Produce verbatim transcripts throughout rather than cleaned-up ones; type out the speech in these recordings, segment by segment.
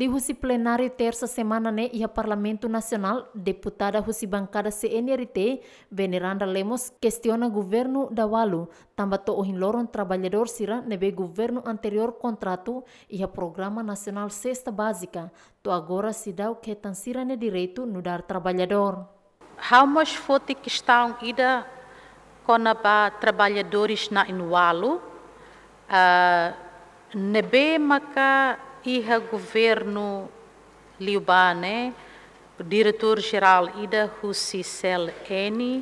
Liuhusi plenáriu tersa semana ne'e iha Parlamentu Nasionál, deputada husi bankada C N R T, Veneranda Lemos, kestiona governu Dawalu tanba to'o ohin loron traballadór sira ne'ebé governu anteriór kontratu iha Programa Nasionál Sesta Bázika, to'o agora seidauk hetan sira-nia direitu nu'udar traballadór. Ha'u mós foti kestaun ida kona-ba traballadores na'in-ualu, ah, ne'ebé maka iha governu liubá ne'e, diretór jerál ida husi C L N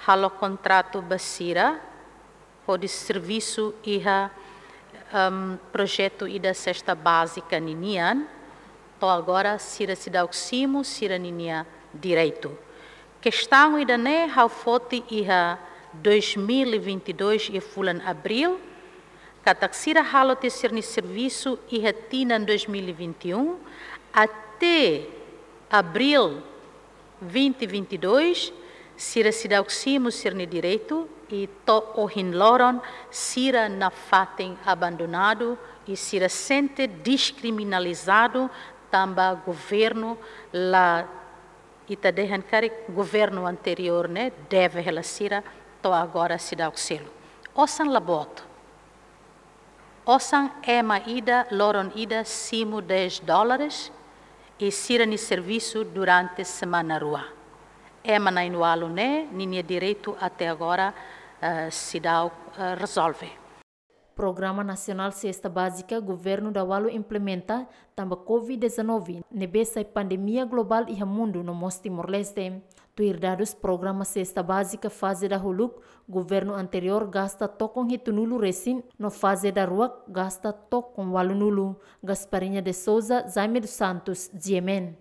halo kontratu ba sira hodi servisu iha, em, projetu ida sesta bázika ninian, to'o agora sira seidauk simu sira-ninia direitu. Kestaun ida-ne'e ha'u foti iha dois mil e vinte e dois iha fulan Abríl, katak sira halo tiha sira-nia servisu iha tinan dois mil e vinte e um até Abríl vinte vinte e dois, sira seidauk simu sira-nia direitu, i to'o ohin loron sira nafatin abandonadu, i sira sente deskriminalizadu tanba governu la, ita dehan karik governu anteriór ne'e deve hela sira, to'o agora seidauk selu. Osan la boot. Osan ema ida, loron ida simu dez dólares, i sira-nia servisu durante semana rua. Ema na'in-ualu ne'e, ninia direitu até agora, eh, seidauk, eh, rezolve. Programa Nasionál Sesta Bázika governu Dawalu implementa tanba covid dezanove, ne'ebé sai pandemia globál iha mundu no mós Timor-Leste. Tuir dadus programa Sesta Bázika faze dahuluk, governu anteriór gasta tokon hitunulu resin, no faze daruak gasta tokon ualunulu. Gasparinha de Souza, Jaime dos Santos, G M N.